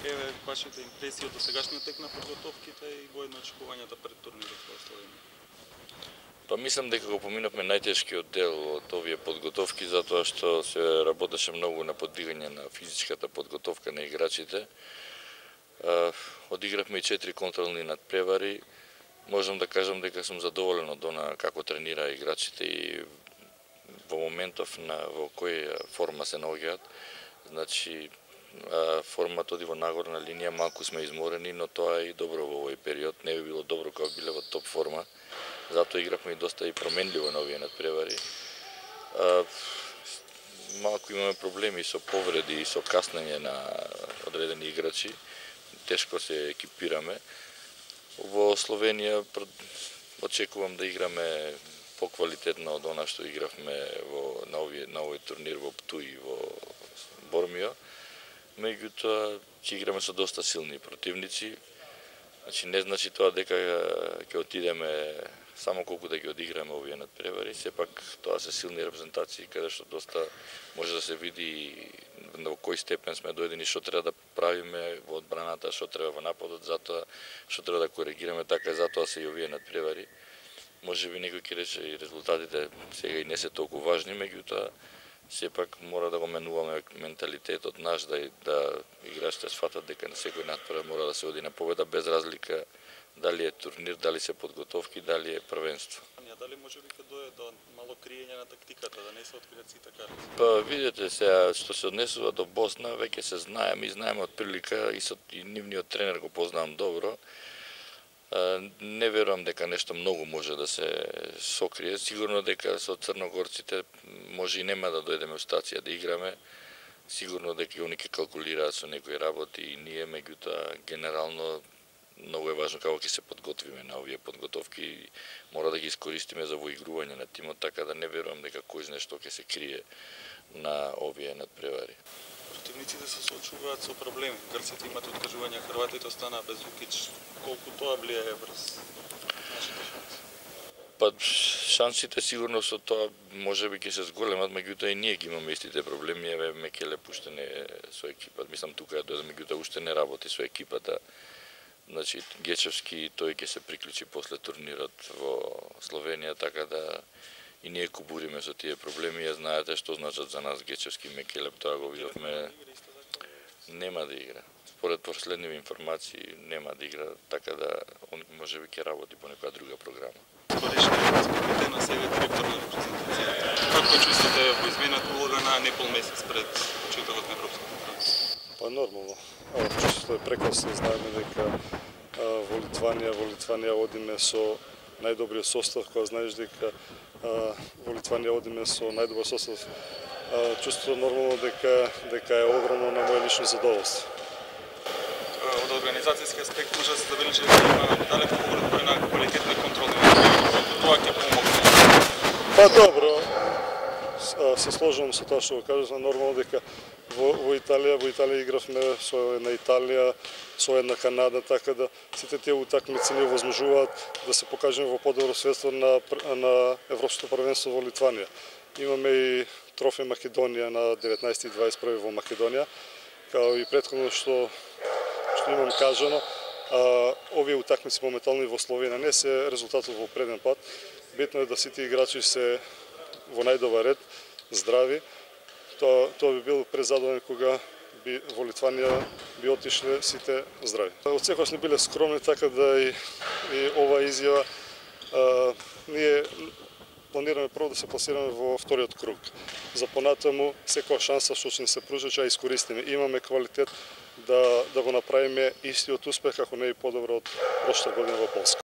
еве вашите импресии од досегашниот тек на подготовките и воедно очекувањата пред турнирот во Словенија? Па мислам дека го поминавме најтешкиот дел од овие подготовки затоа што се работеше многу на поддигање на физичката подготовка на играчите. Одигравме и 4 контролни надпревари. Можам да кажам дека сум задоволен од она како тренира играчите и во моментов во која форма се наоѓаат. Значи формата оди во нагорна линија, малку сме изморени, но тоа е и добро во овој период. Не би било добро кога биле во топ форма. Затоа игравме и доста и променливо на овие надпревари. Малку имаме проблеми со повреди и со каснење на одредени играчи. Тешко се екипираме. Во Словенија очекувам да играме поквалитетно од она што игравме на овој турнир во Птуј и во Бормио. Меѓутоа ќе играме со доста силни противници. Значи не значи тоа дека ќе отидеме само колку да ги одиграме овие надпревари, сепак тоа се силни репрезентации каде што доста може да се види во кој степен сме дојдени, што треба да правиме во одбраната, што треба во нападот, затоа што треба да коригираме, така затоа се и овие надпревари. Можеби некој ќе рече и резултатите сега и не се толку важни, меѓутоа сепак мора да го менуваме менталитетот наш да играчите сфатат дека на секој надпревар мора да се оди на победа без разлика дали е турнир, дали се подготовки, дали е првенство. Дали може би ќе дое до мало криење на тактиката, да не се откријат сите карти? Па видете сега што се однесува до Босна, веќе се знаеме и знаеме од прилика и нивниот тренер го познавам добро. Не верувам дека нешто многу може да се сокрие. Сигурно дека со црногорците може и нема да дојдеме во стација да играме. Сигурно дека они ќе калкулираат со некои работи и ние, меѓутоа генерално многу е важно како ќе се подготвиме на овие подготовки. Мора да ги искористиме за воигрување на тимот, така да не верувам дека кој знае што ќе се крие на овие надпревари. Противниците се соочуваат со проблеми. Грците имат откажување, хрватите останаа без Укич. Колку тоа влијае врз нашите шанси? Па шансите сигурно со тоа можеби ќе се зголемат, меѓутоа и ние ги имаме истите проблеми. Еве Мекеле уште не е со екипата. Мислам тука дојде, меѓутоа уште не работи со екипата. Значи Гечевски тој ќе се приклучи после турнирот во Словенија, така да и ние кубуриме со тие проблеми. Ја знаете што значат за нас Гечевски, Мекеле, тоа го видовме. Нема да игра. Според последниви информации нема да игра, така да он можеби ќе работи по некоја друга програма. Корешниот капитен на сега директор на репрезентацијата. Како чувствате во измената улога на непол месец пред почетокот на европската првенство? Па нормално. Чувството е прекрасно, знаеме дека во Литванија одиме со најдобриот состав, кога знаеш дека во Литванија одиме со најдобар состав. Чувството нормално дека е огромно на моје лично задоволство. Од организацијски аспект може да се забележи дека има далеку поголем број на квалитетни контролни надпревари. Тоа ќе помогне. Па добро, се сложувам со тоа што го кажав, нормално дека во Италија игравме со една Италија, со една Канада, така да сите тие утакмици ни овозможуваат да се покажеме во подобро светство на европското првенство во Литванија. Имаме и трофеј Македонија на 19 и 21 во Македонија, као и претходно што имам кажано, овие утакмици моментално и во Словенија не се резултатот во преден пат. Битно е да сите играчи се во најдобар ред, здрави. Тоа би бил презадоволен кога во Литванија би отишле сите здрави. Од секогаш не биле скромни, така да и ова изјава ние планираме прво да се пласираме во вториот круг. За понатаму секоја шанса што ќе ни се пружи ќе ја искористиме. Имаме квалитет да го направиме истиот успех, ако не и подобро од прошлата година во Полска.